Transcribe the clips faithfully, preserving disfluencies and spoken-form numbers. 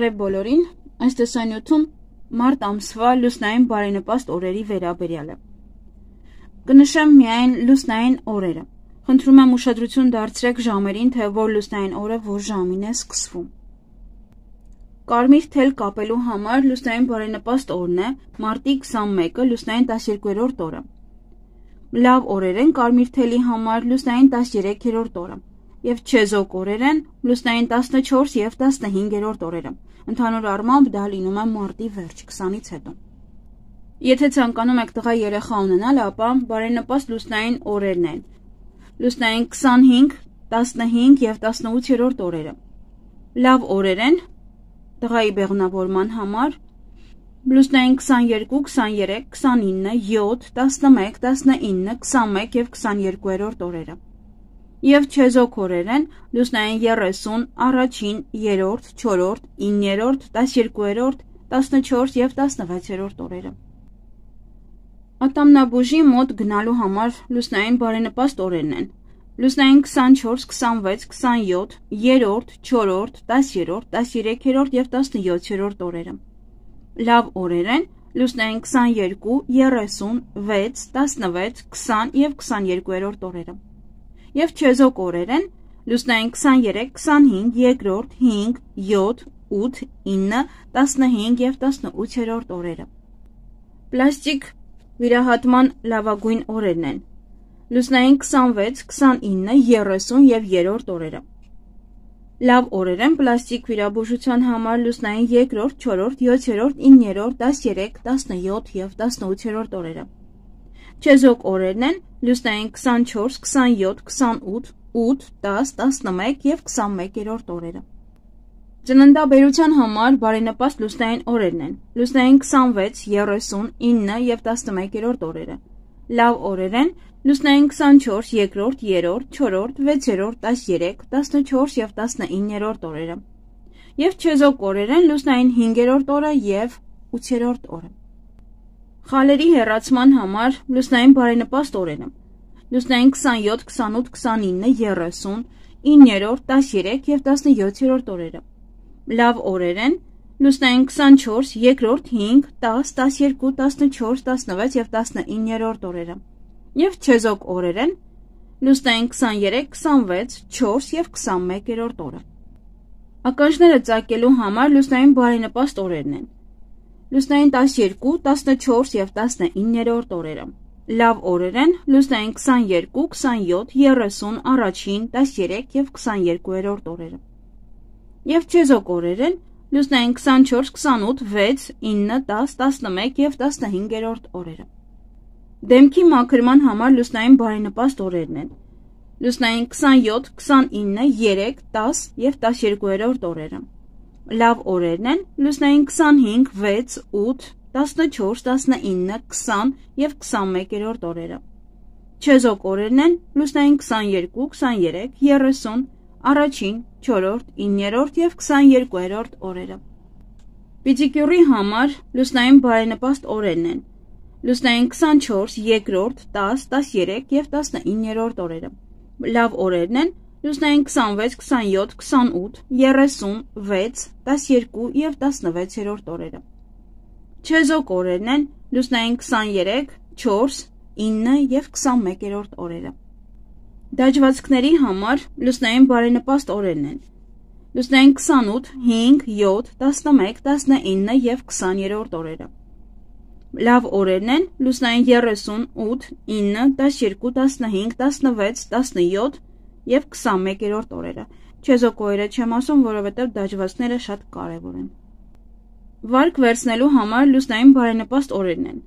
Բարև բոլորին, այս տեսանյութում մարտ ամսվա լուսնային բարենպաստ օրերի վերաբերյալ է։ Կնշեմ միայն լուսնային օրերը։ Խնդրում եմ ուշադրություն դարձրեք ժամերին, թե որ լուսնային օրը որ ժամին է սկսվում։ Կարմիր թել կապելու համար լուսնային բարենպաստ օրն է մարտի քսանմեկը լուսնային տասներկուերորդ օրը։ Լավ օրեր են կարմիր թելի համար լուսնային տասներեքերորդ օրը և չեզոք օրեր են լուսնային տասնչորս և տասնհինգերորդ օրերը։ Ընդհանուր առմամբ դա լինում է մարտի վերջ քսանից հետո։ Եթե ցանկանում եք տղա երեխա ունենալ, ապա բարենպաստ լուսնային օրերն են լուսնային քսանհինգ, տասնհինգ և տասնութերորդ օրերը։ Լավ օրեր են տղայի բեղմնավորման համար լուսնային քսաներկու, քսաներեք, քսանինը, յոթ, տասնմեկ, տասնինը, քսանմեկ և քսաներկուերորդ օրերը։ Եվ չեզոք օրեր են լուսնային երեսուն, առաջին, երրորդ, չորրորդ, իններորդ, տասներկուերորդ, տասնչորս և տասնվեցերորդ օրերը։ Ատամնաբուժի մոտ գնալու համար լուսնային բարենպաստ օրերն են լուսնային քսանչորս, քսանվեց, քսանյոթ, երրորդ, չորրորդ, տասերորդ, տասներեքերորդ և տասնյոթերորդ օրերը։ Լավ օրեր են լուսնային քսաներկու, երեսուն, վեց, տասնվեց, քսան և քսաներկուերորդ օրերը։ Եվ չեզոք օրեր են լուսնային քսաներեք, քսանհինգ, երկրորդ, հինգ, յոթ, ութ, ինը, տասնհինգ և տասնութերորդ օրերը։ Պլաստիկ վիրահատման լավագույն օրերն են լուսնային քսանվեց, քսանինը, երեսուն և երրորդ օրերը։ Լավ օրեր են պլաստիկ վիրաբուժության համար լուսնային երկրորդ, չորրորդ, յոթերորդ, իններորդ, տասներեք, տասնյոթ և տասնութերորդ օրերը։ Չեզոք օրերն են լուսնային քսանչորս, քսանյոթ, քսանութ, ութ, տաս, տասնմեկ և քսանմեկերորդ օրերը։ Ծննդաբերության համար բարենպաստ լուսնային օրերն են լուսնային քսանվեց, երեսուն, ինը և տասնմեկերորդ օրերը։ Լավ օրեր են լուսնային քսանչորս, երկրորդ, երրորդ, չորրորդ, վեցերորդ, տասներեք, տասնչորս և տասնիններորդ օրերը։ Եվ չեզոք օրեր են լուսնային հինգերորդ օրը և ութերորդ օրը։ Խալերի հեռացման համար լուսնային բարենպաստ օրերը լուսնային քսանյոթ, քսանութ, քսանինը, երեսուն, իններորդ, տասներեք և տասնյոթերորդ օրերը։ Լավ օրեր են լուսնային քսանչորս, երկրորդ, հինգ, տաս, տասներկու, տասնչորս, տասնվեց և տասնիններորդ օրերը։ Եվ չեզոք օրեր են լուսնային քսաներեք, քսանվեց, չորս և քսանմեկերորդ օրը։ Ականջները ծակելու համար լուսնային բարենպաստ օրերն են լուսնային տասներկու, տասնչորս և տասնիններորդ օրերը։ Լավ օրեր են լուսնային քսաներկու, քսանյոթ, երեսուն, առաջին, տասներեք և քսաներկուերորդ օրերը։ Եվ չեզոք օրեր են լուսնային քսանչորս, քսանութ, վեց, ինը, տաս, տասնմեկ և տասնհինգերորդ օրերը։ Դեմքի մաքրման համար լուսնային բարենպաստ օրերն են լուսնային քսանյոթ, քսանինը, երեք, տաս և տասներկուերորդ օրերը։ Լավ օրերն են լուսնային քսանհինգ, վեց, ութ, տասնչորս, տասնինը, քսան և քսանմեկերորդ օրերը։ Չեզոք օրերն են լուսնային քսաներկու, քսաներեք, երեսուն, առաջին, չորրորդ, իններորդ և քսաներկուերորդ օրերը։ Պիդիկյուրի համար լուսնային բարենպաստ օրերն են լուսնային քսանչորս, երկրորդ, տաս, տասներեք և տասնիններորդ օրերը։ Լավ օրերն են լուսնային քսանվեց, քսանյոթ, քսանութ, երեսուն, վեց, տասներկու և տասնվեցերորդ օրերը։ Չեզոք օրերն են լուսնային քսաներեք, չորս, ինը և քսանմեկերորդ օրերը։ Դաջվածքների համար լուսնային բարենպաստ օրերն են լուսնային քսանութ, հինգ, յոթ, տասնմեկ, տասնինը և քսաներորդ օրերը։ Լավ օրերն են լուսնային երեսուն, ութ, ինը, տասներկու, տասնհինգ, տասնվեց, տասնյոթ և քսանմեկերորդ օրերը։ Չեզոք օրերը չեմ ասում, որովհետև դաջվածքները շատ կարևոր են։ Վարկ վերցնելու համար լուսնային բարենպաստ օրերն են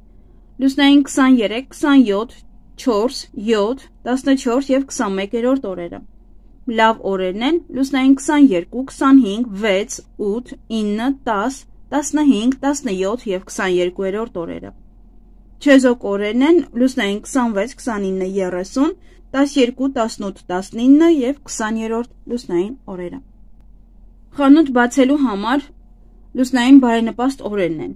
լուսնային քսաներեք, քսանյոթ, չորս, յոթ, տասնչորս և քսանմեկերորդ օրերը։ Լավ օրերն են լուսնային քսաներկու, քսանհինգ, վեց, ութ, ինը, տաս, տասնհինգ, տասնյոթ և քսաներկուերորդ օրերը։ Չեզոք օրերն են լուսնային քսանվեց, քսանինը, երեսուն, տասներկու, տասնութ, տասնինը և քսաներորդ լուսնային օրերը։ Խանութ բացելու համար լուսնային բարենպաստ օրերն են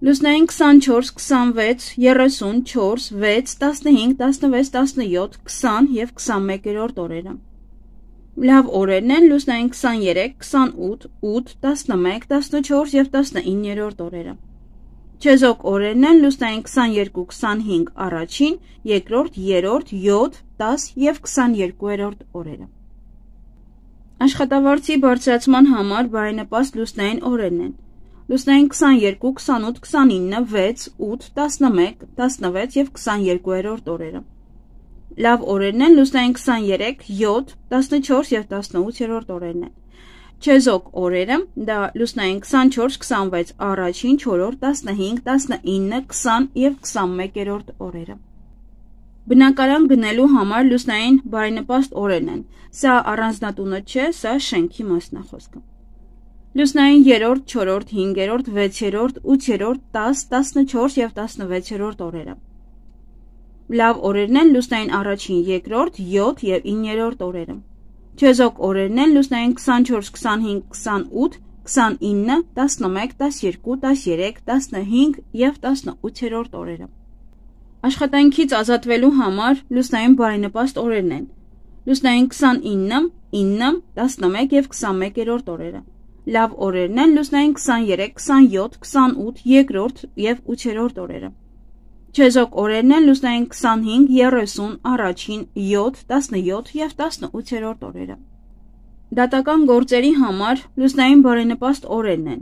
լուսնային քսանչորս, քսանվեց, երեսուն, չորս, վեց, տասնհինգ, տասնվեց, տասնյոթ, քսան և քսանմեկերորդ օրերը։ Լավ օրերն են լուսնային քսաներեք, քսանութ, ութ, տասնմեկ, տասնչորս և տասնիններորդ օրերը։ Չեզոք օրերն են լուսնային քսաներկու, քսանհինգ առաջին, երկրորդ, երրորդ, յոթ, դաս և քսաներկուերորդ օրերը։ Աշխատավարձի բարձրացման համար բարենպաստ լուսնային օրերն են լուսնային քսաներկու, քսանութ, քսանինը, վեց, ութ, տասնմեկ, տասնվեց և քսաներկուերորդ օրերը։ Լավ օրերն են լուսնային քսաներեք, յոթ, տասնչորս և տասնութերորդ օրերն են։ Չեզոք օրերը դա լուսնային քսանչորս, քսանվեց առաջին, չորրորդ, տասնհինգ, տասնինը, քսան և քսանմեկերորդ օրերը։ Բնակարան գնելու համար լուսնային բարենպաստ օրերն են։ Սա առանձնատունը չէ, սա շենքի մասնախոսքը։ Լուսնային երրորդ, չորրորդ, հինգերորդ, վեցերորդ, ութերորդ, տաս, տասնչորս և տասնվեցերորդ օրերը։ Լավ օրերն են լուսնային առաջին, երկրորդ, յոթ և իններորդ օրերը։ Չեզոք օրերն են լուսնային քսանչորս, քսանհինգ, քսանութ, քսանինը, տասնմեկ, տասներկու, տասներեք, տասնհինգ և տասնութերորդ օրերը։ Աշխատանքից ազատվելու համար լուսնային բարենպաստ օրերն են լուսնային քսանինը, ինը, տասնմեկ և քսանմեկերորդ օրերը։ Լավ օրերն են լուսնային քսաներեք, քսանյոթ, քսանութ, երկրորդ և ութերորդ օրերը։ Չեզոք օրերն են լուսնային քսանհինգ, երեսուն, առաջին, յոթ, տասնյոթ և տասնութերորդ օրերը։ Դատական գործերի համար լուսնային բարենպաստ օրերն են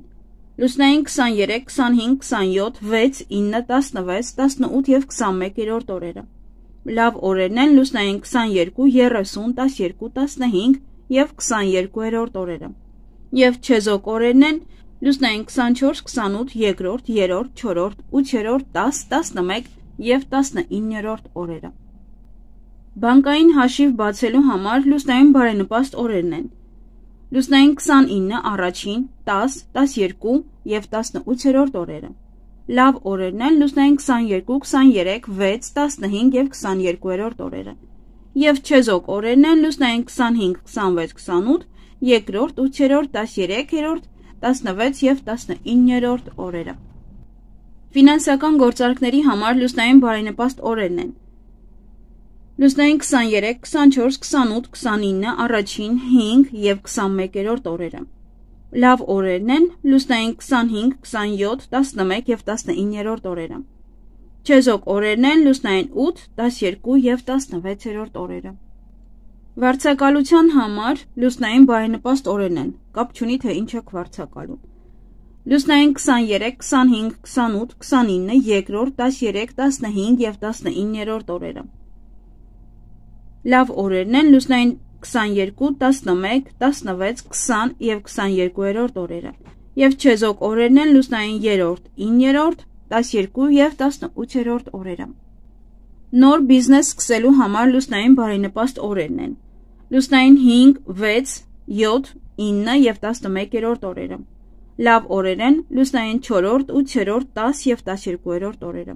լուսնային քսաներեք, քսանհինգ, քսանյոթ, վեց, ինը, տասնվեց, տասնութ և քսանմեկերորդ օրերը։ Լավ օրերն են լուսնային քսաներկու, երեսուն, տասներկու, տասնհինգ և քսաներկուերորդ օրերը։ Եվ չեզոք օրերն են լուսնային քսանչորս, քսանութ, երկրորդ, երրորդ, չորրորդ, ութերորդ, տաս, տասնմեկ և տասնիններորդ օրերը։ Բանկային հաշիվ բացելու համար լուսնային բարենպաստ օրերն են լուսնային քսանինը, առաջին, տաս, տասներկու և տասնութերորդ օրերը։ Լավ օրերն են լուսնային քսաներկու, քսաներեք, վեց, տասնհինգ և քսաներկուերորդ օրերը։ Եվ չեզոք օրերն են լուսնային քսանհինգ, քսանվեց, քսանութ, երկրորդ, ութերորդ, տասներեքերորդ, տասնվեց և տասնիններորդ օրերը։ Ֆինանսական գործարքների համար լուսնային բարենպաստ օրերն են լուսնային քսաներեք, քսանչորս, քսանութ, քսանինը, առաջին, հինգ և քսանմեկերորդ օրերը։ Լավ օրերն են լուսնային քսանհինգ, քսանյոթ, տասնմեկ և տասնիններորդ օրերը։ Չեզոք օրերն են լուսնային ութ, տասներկու և տասնվեցերորդ օրերը։ Վարձակալության համար լուսնային բարենպաստ օրերն են, կապ չունի թե ինչ եք վարձակալում։ Լուսնային քսաներեք, քսանհինգ, քսանութ, քսանինը, երկրորդ, տասներեք, տասնհինգ և տասնիններորդ օրերը։ Լավ օրերն են լուսնային քսաներկու, տասնմեկ, տասնվեց, քսան և քսաներկուերորդ օրերը։ Եվ չեզոք օրերն են լուսնային երրորդ, իններորդ, տասներկու և տասնութերորդ օրերը։ Նոր բիզնես սկսելու համար լուսնային բարենպաստ օրերն են լուսնային հինգ, վեց, յոթ, ինը և տասնմեկերորդ օրերը։ Լավ օրեր են լուսնային չորրորդ, ութերորդ, տաս և տասներկուերորդ օրերը։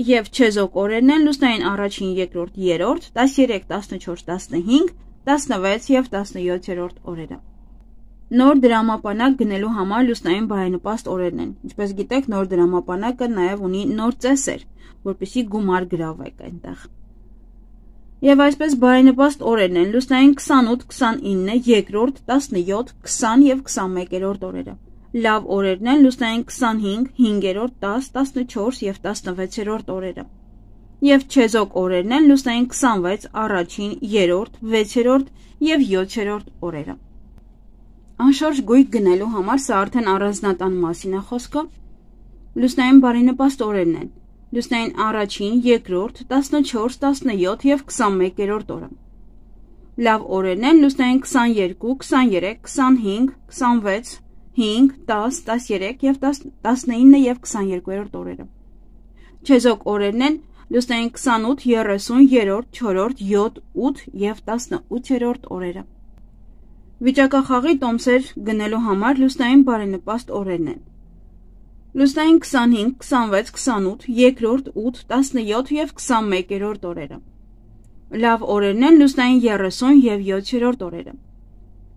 Եվ չեզոք օրերն են լուսնային առաջին, երկրորդ, երրորդ, տասներեք, տասնչորս, տասնհինգ, տասնվեց և տասնյոթերորդ օրերը։ Նոր դրամապանակ գնելու համար լուսնային բարենպաստ օրերն են։ Ինչպես գիտեք, նոր դրամապանակը նաև ունի նոր ծեսեր, որպեսզի գումար գրավեք այնտեղ։ Եվ այսպես բարենպաստ օրերն են լուսնային քսանութ, քսանինը, երկրորդ, տասնյոթ, քսան և քսանմեկերորդ օրերը։ Լավ օրերն են լուսնային քսանհինգ, հինգերորդ, տաս, տասնչորս և տասնվեցերորդ օրերը։ Եվ չեզոք օրերն են լուսնային քսանվեց, առաջին, երրորդ, վեցերորդ և յոթերորդ օրերը։ Անշարժ գույք գնելու համար սա արդեն առանձնատան մասին է խոսքը։ Լուսնային բարենպաստ օրերն են լուսնային առաջին, երկրորդ, տասնչորս, տասնյոթ և քսանմեկերորդ օրը։ Լավ օրերն են լուսնային քսաներկու, քսաներեք, քսանհինգ, քսանվեց, հինգ, տաս, տասներեք և տասնինը և քսաներկուերորդ օրերը։ Չեզոք օրերն են լուսնային քսանութ, երեսուն, երրորդ, չորրորդ, յոթ, ութ և տասնութերորդ օրերը։ Վիճակախաղի տոմսեր գնելու համար լուսնային բարենպաստ օրերն են լուսնային քսանհինգ, քսանվեց, քսանութ, երկրորդ, ութ, տասնյոթ և քսանմեկերորդ օրերը։ Լավ օրերն են լուսնային երեսուն և յոթերորդ օրերը։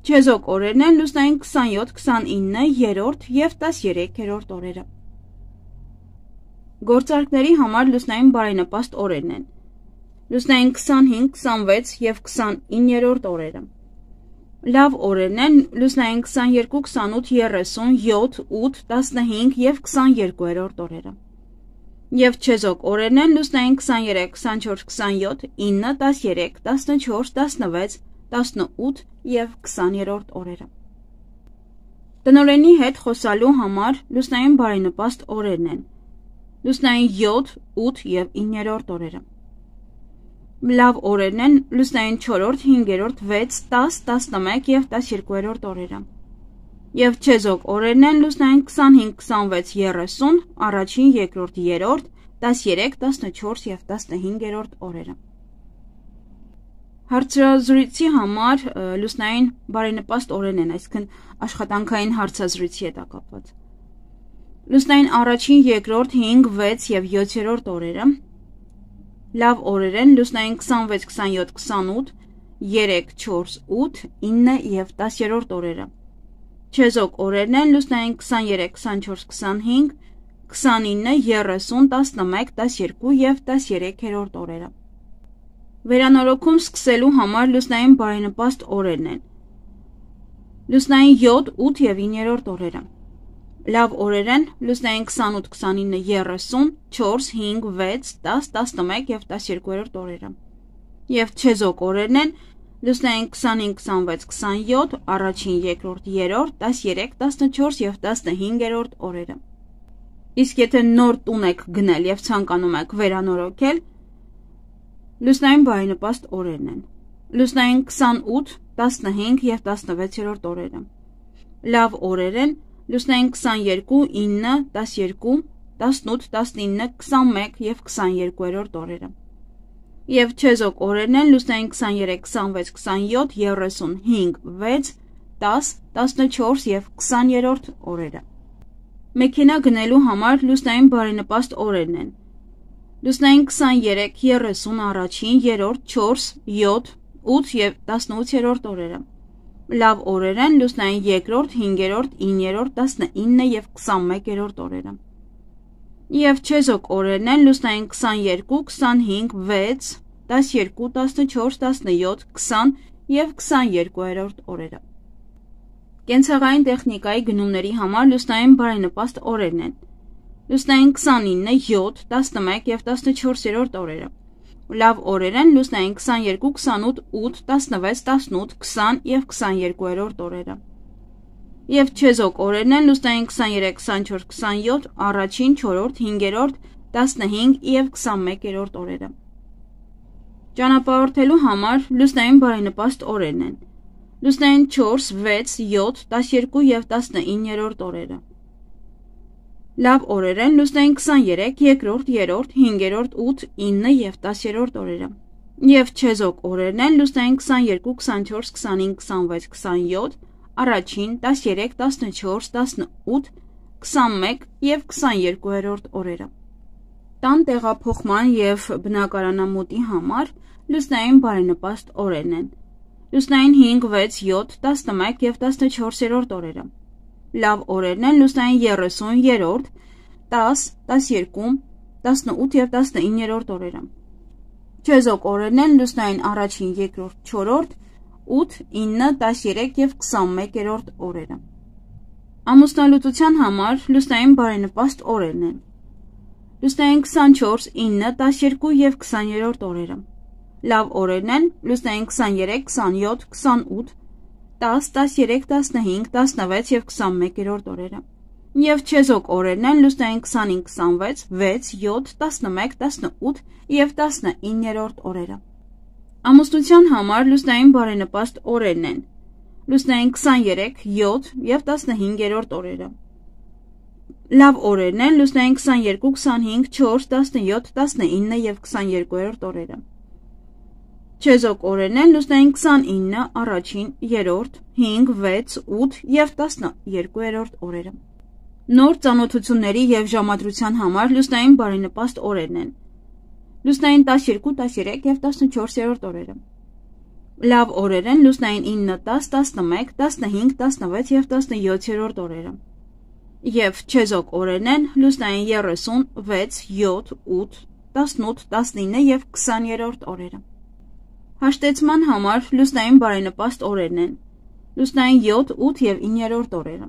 Չեզոք օրերն են լուսնային քսանյոթ, քսանինը, երրորդ և տասներեքերորդ օրերը։ Գործարքների համար լուսնային բարենպաստ օրերն են լուսնային քսանհինգ, քսանվեց և քսանիններորդ օրերը։ Լավ օրերն են լուսնային քսաներկու, քսանութ, երեսուն, յոթ, ութ, տասնհինգ և քսաներկուերորդ օրերը։ Եվ չեզոք օրերն են լուսնային քսաներեք, քսանչորս, քսանյոթ, ինը, տասներեք, տասնչորս, տասնվեց, տասնութ և քսաներորդ օրերը։ Տնօրենի հետ խոսալու համար լուսնային բարենպաստ օրերն են լուսնային յոթ, ութ և իններորդ օրերը։ Լավ օրերն են լուսնային չորրորդ, հինգերորդ, վեց, տաս, տասնմեկ և տասներկուերորդ օրերը։ Եվ չեզոք օրերն են լուսնային քսանհինգ, քսանվեց, երեսուն, առաջին, երկրորդ, երրորդ, տասներեք, տասնչորս և տասնհինգերորդ օրերը։ Հարցազրույցի համար լուսնային բարենպաստ օրերն են, այսինքն աշխատանքային հարցազրույցի հետ կապված։ Լուսնային առաջին, երկրորդ, հինգ, վեց և յոթերորդ օրերը։ Լավ օրեր են լուսնային քսանվեց, քսանյոթ, քսանութ, երեք, չորս, ութ, ինը և տասներորդ օրերը։ Չեզոք օրերն են լուսնային քսաներեք, քսանչորս, քսանհինգ, քսանինը, երեսուն, տասնմեկ, տասներկու և տասներեքերորդ օրերը։ Վերանորոգում սկսելու համար լուսնային բարենպաստ օրերն են լուսնային յոթ, ութ և իններորդ օրերը։ Լավ օրեր են լուսնային քսանութ, քսանինը, երեսուն, չորս, հինգ, վեց, տաս, տասնմեկ և տասներկուերորդ օրերը։ Եվ չեզոք օրերն են լուսնային քսանհինգ, քսանվեց, քսանյոթ, առաջին, երկրորդ, երրորդ, տասներեք, տասնչորս և տասնհինգերորդ օրերը։ Իսկ եթե նոր տուն եք գնել և ցանկանում եք վերանորոգել, լուսնային բարենպաստ օրերն են լուսնային քսանութ, տասնհինգ և տասնվեցերորդ օրերը։ Լավ օրեր են լուսնային քսաներկու, ինը, տասներկու, տասնութ, տասնինը, քսանմեկ և քսաներկուերորդ օրերը։ Եվ չեզոք օրերն են լուսնային քսաներեք, քսանվեց, քսանյոթ, երեսուն, հինգ, վեց, տաս, տասնչորս և քսաներորդ օրերը։ Մեքենա գնելու համար լուսնային բարենպաստ օրերն են լուսնային քսաներեք, երեսուն, առաջին, երրորդ, չորս, յոթ, ութ և տասնութերորդ օրերը։ Լավ օրեր են լուսնային երկրորդ, հինգերորդ, իններորդ, տասնինը և քսանմեկերորդ օրերը։ Եվ չեզոք օրերն են լուսնային քսաներկու, քսանհինգ, վեց, տասներկու, տասնչորս, տասնյոթ, քսան և քսաներկուերորդ օրերը։ Կենցաղային տեխնիկայի գնումների համար լուսնային բարենպաստ օրերն են լուսնային քսանինը, յոթ, տասնմեկ և տասնչորսերորդ օրերը։ Լավ օրեր են լուսնային քսաներկու, քսանութ, ութ, տասնվեց, տասնութ, քսան և քսաներկուերորդ օրերը։ Եվ չեզոք օրերն են լուսնային քսաներեք, քսանչորս, քսանյոթ, առաջին, չորրորդ, հինգերորդ, տասնհինգ և քսանմեկերորդ օրերը։ Ճանապարհորդելու համար լուսնային բարենպաստ օրերն են լուսնային չորս, վեց, յոթ, տասներկու և տասնիններորդ օրերը։ Լավ օրեր են լուսնային քսաներեք, երկրորդ, երրորդ, հինգերորդ, ութ, ինը և տասերորդ օրերը։ Եվ չեզոք օրերն են լուսնային քսաներկու, քսանչորս, քսանհինգ, քսանվեց, քսանյոթ, առաջին, տասներեք, տասնչորս, տասնութ, քսանմեկ և քսաներկուերորդ օրերը։ Տան տեղափոխման և բնակարանամուտի համար լուսնային բարենպաստ օրերն են լուսնային հինգ, վեց, յոթ, տասնմեկ և տասնչորսերորդ օրերը։ Լավ օրերն են լուսնային երեսուն, երրորդ, տաս, տասներկու, տասնութ և տասնիններորդ օրերը։ Չեզոք օրերն են լուսնային առաջին, երկրորդ, չորրորդ, ութ, ինը, տասներեք և քսանմեկերորդ օրերը։ Ամուսնալուծության համար լուսնային բարենպաստ օրերն են լուսնային քսանչորս, ինը, տասներկու և քսաներորդ օրերը։ Լավ օրերն են լուսնային քսաներեք, քսանյոթ, քսանութ, տաս, տասներեք, տասնհինգ, տասնվեց և քսանմեկերորդ օրերը։ Եվ չեզոք օրերն են լուսնային քսանհինգ, քսանվեց, վեց, յոթ, տասնմեկ, տասնութ և տասնիններորդ օրերը։ Ամուսնության համար լուսնային բարենպաստ օրերն են լուսնային քսաներեք, յոթ և տասնհինգերորդ օրերը։ Լավ օրերն են լուսնային քսաներկու, քսանհինգ, չորս, տասնյոթ, տասնինը և քսաներկուերորդ օրերը։ Չեզոք օրերն են լուսնային քսանինը, առաջին, երրորդ, հինգ, վեց, ութ և տասներկուերորդ օրերը։ Նոր ծանոթությունների և ժամադրության համար լուսնային բարենպաստ օրերն են լուսնային տասներկու, տասներեք և տասնչորսերորդ օրերը։ Լավ օրեր են լուսնային ինը, տաս, տասնմեկ, տասնհինգ, տասնվեց և տասնյոթերորդ օրերը։ Եվ չեզոք օրերն են լուսնային երեսուն, վեց, յոթ, ութ, տասնութ, տասնինը և քսաներորդ օրերը։ Հաշտեցման համար լուսնային բարենպաստ օրերն են լուսնային յոթ, ութ և իններորդ օրերը։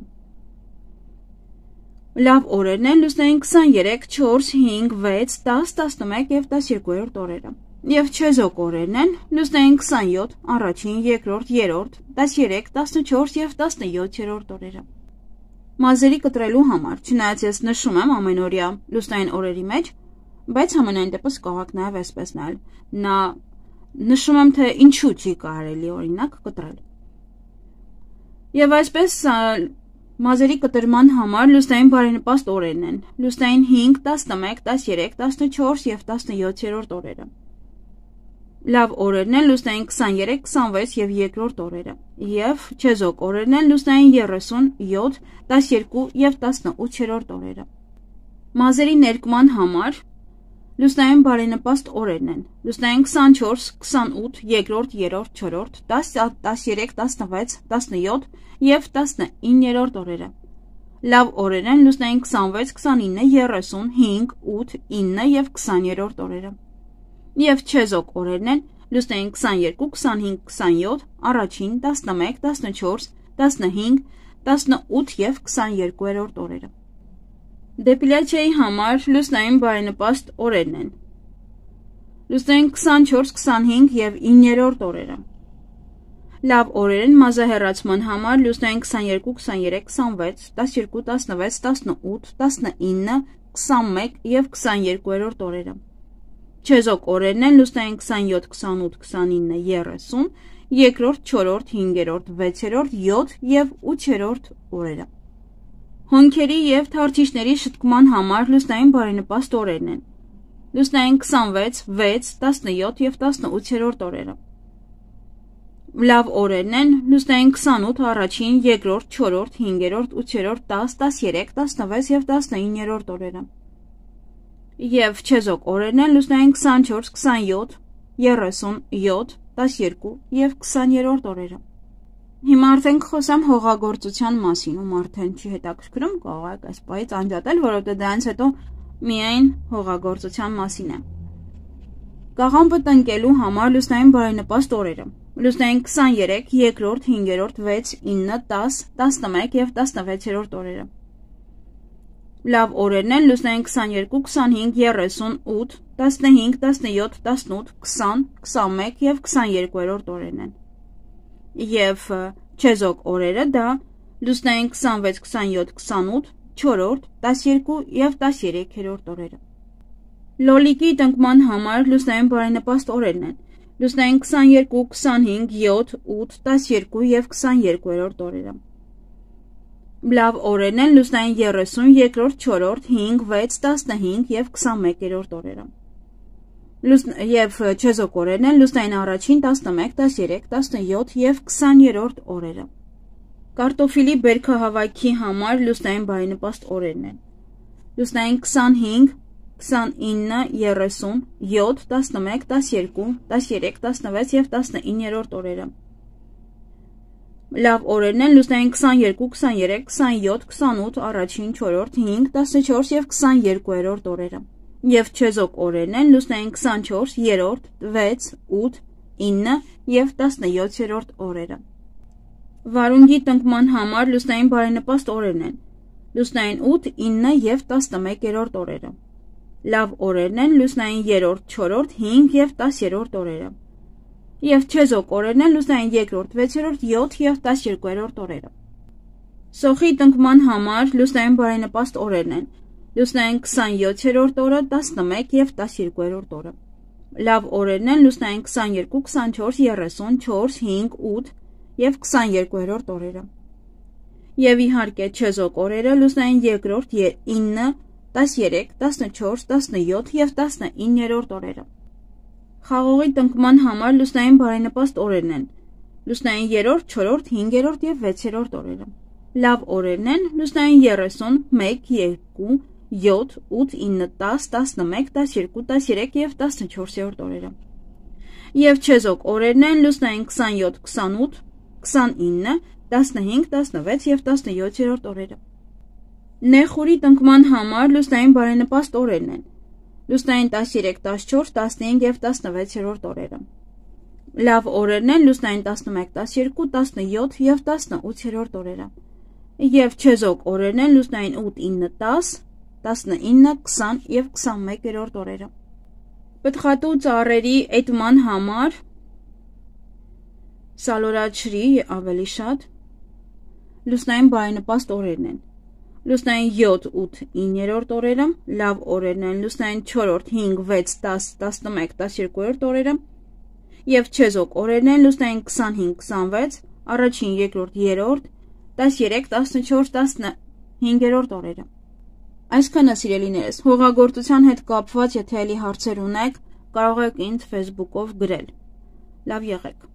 Լավ օրերն են լուսնային քսաներեք, չորս, հինգ, վեց, դաս, տասնմեկ և տասներկուերորդ օրերը։ Եվ չեզոք օրերն են լուսնային քսանյոթ, առաջին, երկրորդ, երրորդ, տասներեք, տասնչորս և տասնյոթերորդ օրերը։ Մազերի կտրելու համար, չնայած ես նշում եմ ամենօրյա լուսնային օրերի մեջ, բայց համենայն դեպս կարող նաև այսպես նայել։ Նա նշում եմ, թե ինչու չի կարելի օրինակ կտրել։ Եվ այսպես մազերի կտրման համար լուսնային բարենպաստ օրերն են լուսնային հինգ, տասնմեկ, տասներեք, տասնչորս և տասնյոթերորդ օրերը։ Լավ օրերն են լուսնային քսաներեք, քսանվեց և երկրորդ օրերը, և չեզոք օրերն են լուսնային երեսուն, յոթ, տասներկու և տասնութերորդ օրերը։ Մազերի ներկման համար լուսնային բարենպաստ օրերն են լուսնային քսանչորս, քսանութ, երկրորդ, երրորդ, չորրորդ, դաս, տասներեք, տասնվեց, տասնյոթ և տասնիններորդ օրերը։ Լավ օրեր են լուսնային քսանվեց, քսանինը, երեսուն, հինգ, ութ, ինը և քսաներորդ օրերը։ Եվ չեզոք օրերն են լուսնային քսաներկու, քսանհինգ, քսանյոթ, առաջին, տասնմեկ, տասնչորս, տասնհինգ, տասնութ և քսաներկուերորդ օրերը։ Դեպիլյացիայի համար լուսնային բարենպաստ օրերն են լուսնային քսանչորս, քսանհինգ և իններորդ օրերը։ Լավ օրեր են մազահեռացման համար լուսնային քսաներկու, քսաներեք, քսանվեց, տասներկու, տասնվեց, տասնութ, տասնինը, քսանմեկ և քսաներկուերորդ օրերը։ Չեզոք օրերն են լուսնային քսանյոթ, քսանութ, քսանինը, երեսուն, երկրորդ, չորրորդ, հինգերորդ, վեցերորդ, յոթ և ութերորդ օրերը։ Հոնքերի և թարթիչների շտկման համար լուսնային բարենպաստ օրերն են լուսնային քսանվեց, վեց, տասնյոթ և տասնութերորդ օրերը։ Լավ օրերն են լուսնային քսանութ, առաջին, երկրորդ, չորրորդ, հինգերորդ, ութերորդ, դաս, տասներեք, տասնվեց և տասնիններորդ օրերը։ Եվ չեզոք օրերն են լուսնային քսանչորս, քսանյոթ, երեսուն, յոթ, տասներկու և քսաներորդ օրերը։ Հիմա արդեն կխոսեմ հողագործության մասին, ում արդեն չի հետաքրքրում, կարող եք այս պահից անջատել, որովհետև դրանից հետո միայն հողագործության մասին է։ Կաղամբը տնկելու համար լուսնային բարենպաստ օրերը լուսնային քսաներեք, երկրորդ, հինգերորդ, վեց, ինը, դաս, տասնմեկ և տասնվեցերորդ օրերը։ Լավ օրերն են լուսնային քսաներկու, քսանհինգ, երեսուն, ութ, տասնհինգ, տասնյոթ, տասնութ, քսան, քսանմեկ և քսաներկուերորդ օրերն են։ Եվ չեզոք օրերը դա լուսնային քսանվեց, քսանյոթ, քսանութ, չորրորդ, տասներկու և տասներեքերորդ օրերը։ Լոլիկի տնկման համար լուսնային բարենպաստ օրերն են լուսնային քսաներկու, քսանհինգ, յոթ, ութ, տասներկու և քսաներկուերորդ օրերը։ Լավ օրերն են լուսնային երեսուն, երկրորդ, չորրորդ, հինգ, վեց, տասնհինգ և քսանմեկերորդ օրերը։ Եվ չեզոք օրերն են լուսնային առաջին, տասնմեկ, տասներեք, տասնյոթ և քսաներորդ օրերը։ Կարտոֆիլի բերքահավաքի համար լուսնային բարենպաստ օրերն են լուսնային քսանհինգ, քսանինը, երեսուն, յոթ, տասնմեկ, տասներկու, տասներեք, տասնվեց և տասնիններորդ օրերը։ Լավ օրերն են լուսնային քսաներկու, քսաներեք, քսանյոթ, քսանութ, առաջին, չորրորդ, հինգ, տասնչորս և քսաներկուերորդ օրերը։ Եվ չեզոք օրերն են լուսնային քսանչորս, երրորդ, վեց, ութ, ինը և տասնյոթերորդ օրերը։ Վարունգի տնկման համար լուսնային բարենպաստ օրերն են լուսնային ութ, ինը և տասնմեկերորդ օրերը։ Լավ օրերն են լուսնային երրորդ, չորրորդ, հինգ և տասերորդ օրերը։ Եվ չեզոք օրերն են լուսնային երկրորդ, վեցերորդ, յոթ և տասներկուերորդ օրերը։ Սոխի տնկման համար լուսնային բարենպաստ օրերն են լուսնային քսանյոթերորդ օրը, տասնմեկ և տասներկուերորդ օրը։ Լավ օրերն են լուսնային քսաներկու, քսանչորս, երեսուն, չորս, հինգ, ութ և քսաներկուերորդ օրերը։ Եվ իհարկե չեզոք օրերը լուսնային երկրորդ, ինը, տասներեք, տասնչորս, տասնյոթ և տասնիններորդ օրերը։ Խաղողի տնկման համար լուսնային բարենպաստ օրերն են լուսնային երրորդ, չորրորդ, հինգերորդ և վեցերորդ օրերը։ Լավ օրերն են լուսնային երեսուն, մեկ, երկու, յոթ, ութ, ինը, դաս, տասնմեկ, տասներկու, տասներեք և տասնչորսերորդ օրերը։ Եվ չեզոք օրերն են լուսնային քսանյոթ, քսանութ, քսանինը, տասնհինգ, տասնվեց և տասնյոթերորդ օրերը։ Նեխուրի տնկման համար լուսնային բարենպաստ օրերն են լուսնային տասներեք, տասնչորս, տասնհինգ և տասնվեցերորդ օրերը։ Լավ օրերն են լուսնային տասնմեկ, տասներկու, տասնյոթ եւ տասնութերորդ օրերը։ Եվ չեզոք օրերն են լուսնային ութ, ինը, դաս, տասնինը, քսան եւ քսանմեկերորդ օրերը։ Պտղատու ծառերի էտման համար սալորաչրի ավելի շատ լուսնային բարենպաստ օրերն են։ Լուսնային յոթ, ութ, իններորդ օրերը, լավ օրերն են լուսնային չորրորդ, հինգ, վեց, դաս, տասնմեկ, տասներկուերորդ օրերը եւ չեզոք օրերն են լուսնային քսանհինգ, քսանվեց, առաջին, երկրորդ, երրորդ, տասներեք, տասնչորս, տասնհինգերորդ օրերը։ Այսքանը սիրելիներս, հողագործության հետ կապված եթե էլի հարցեր ունեք, կարող եք ինձ Facebook-ով գրել։ Լավ եղեք։